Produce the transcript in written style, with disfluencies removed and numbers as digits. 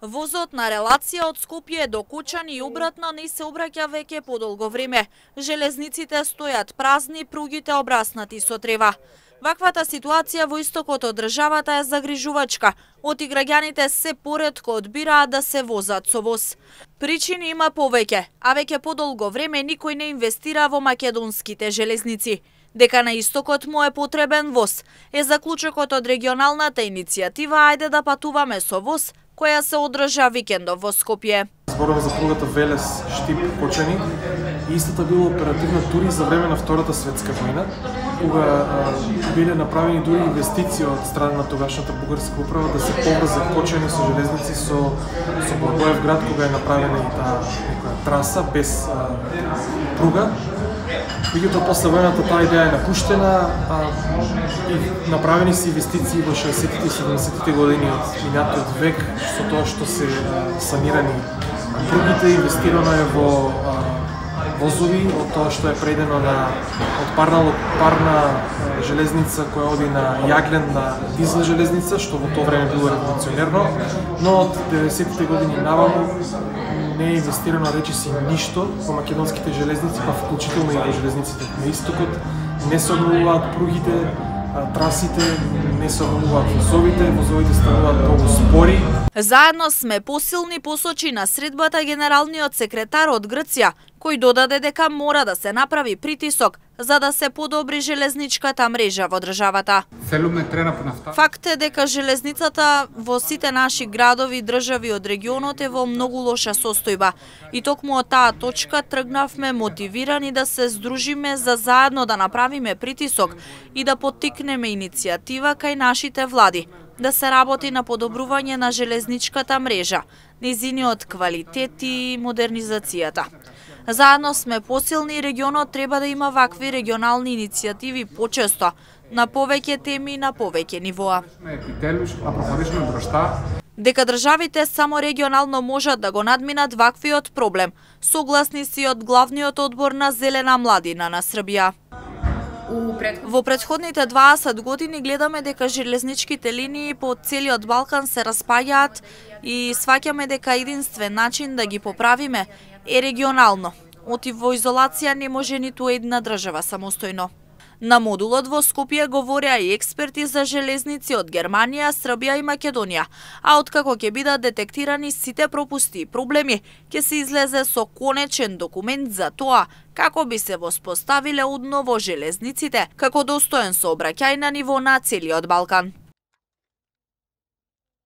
Возот на релација од Скопје до Кочани и обратно не се обраќа веќе подолго време. Железниците стојат празни, пругите обраснати со трева. Ваквата ситуација во истокот од државата е загрижувачка. Оти граѓаните се поретко одбираат да се возат со воз. Причини има повеќе, а веќе подолго време никој не инвестира во македонските железници. Дека на истокот му е потребен воз, е заклучокот од регионалната иницијатива Ајде да патуваме со воз, која се одржа викендов во Скопје. Зборува за пругата Велес Штип Кочани и истата била оперативна дури за време на Втората светска војна, кога биле направени дури инвестиции од страна на тогашната бугарска управа да се поврзе Кочани со железници со Благоевград, кога е направена и таа траса без пруга. Меѓутоа после војната таа идеја е напуштена и направени се инвестиции во 60-тите и 70-тите години од минатиот век со тоа што се санирани пругите, инвестирано е во возови, од тоа што е предено од парна железница која оди на јаглен на дизел железница, што во тоа време било револуционерно, но од 90-тите години наваму не е инвестирано речиси ништо во македонските железници, па вклучително и во железниците на истокот. Не се обновуваат пругите, трасите, не се обновуваат возовите стануваат многу спори. Заедно сме посилни, посочи на средбата генералниот секретар од Грција, кој додаде дека мора да се направи притисок за да се подобри железничката мрежа во државата. Факт е дека железницата во сите наши градови и држави од регионот е во многу лоша состојба. И токму од таа точка тргнавме мотивирани да се здружиме за заедно да направиме притисок и да поттикнеме иницијатива кај нашите влади да се работи на подобрување на железничката мрежа, незиниот квалитет и модернизацијата. Заедно сме посилни и регионот треба да има вакви регионални иницијативи почесто, на повеќе теми и на повеќе нивоа. Дека државите само регионално можат да го надминат ваквиот проблем, согласни си од главниот одбор на Зелена младина на Србија. Во претходните 20 години гледаме дека железничките линии по целиот Балкан се распаѓаат и сваќаме дека единствен начин да ги поправиме е регионално. Оти во изолација не може ниту една држава самостојно. На модулот во Скопје говореа и експерти за железници од Германија, Србија и Македонија, а откако ќе бидат детектирани сите пропусти и проблеми, ќе се излезе со конечен документ за тоа како би се воспоставиле одново железниците како достоен сообраќај на ниво на целиот Балкан.